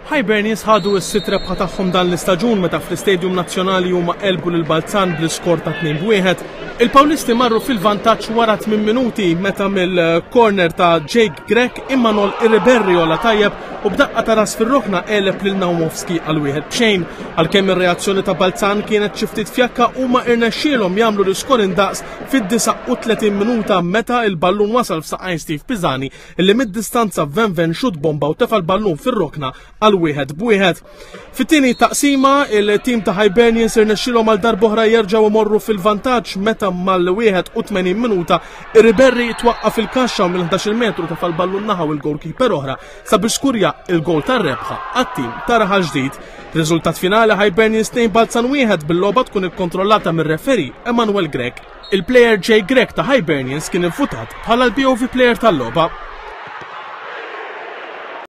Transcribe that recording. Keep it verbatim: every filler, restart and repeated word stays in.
Hibernians ħadu s-sitt rebħa tagħhom dan l-istaġun meta fl-Istadium Nazzjonali huma għelbu lil Balzan bl-iskor ta' tnejn b'wieħed. Il-Pawlisti marru fil-vantaġġ wara tmien minuti meta mill-corner ta' Jake Grech Imanol Iriberri għola tajjeb u b'daqqa ta' ras fir-rokna għeleb lil Naumovski għal wieħed b'xejn. Għalkemm ir-reazzjoni ta' Balzan kienet xi ftit fjakka, huma irnexxielhom jagħmlu l-iskor indaqs fid-disgħa u tletin minuta meta il-ballun wasal f'saqajn Steve Pisani, illi mid-distanza venven xut bomba u tefa' l-ballun fir-rokna għal wieħed b'wieħed. Fit-tieni taqsima, il-tim ta' Hibernians irnexxielhom għal darb'oħra jerġgħu imorru fil-vantaġġ meta mal-81 minuta Iriberri twaqqa fil-kaxxa u mill-ħdax-il metru tefa' l-ballun naħa u il-goalkeeper oħra sabiex skurja il-gol tar-rebħa għat-tim ta' Raħal Ġdid. Riżultat finali, Hibernians tnejn, Balzan wieħed, bil-logħba tkun ikkontrollata mir-referee Emanuel Grech. Il-player Jake Grech ta' Hibernians kien infutat bħala l-B O V player tal-logħba.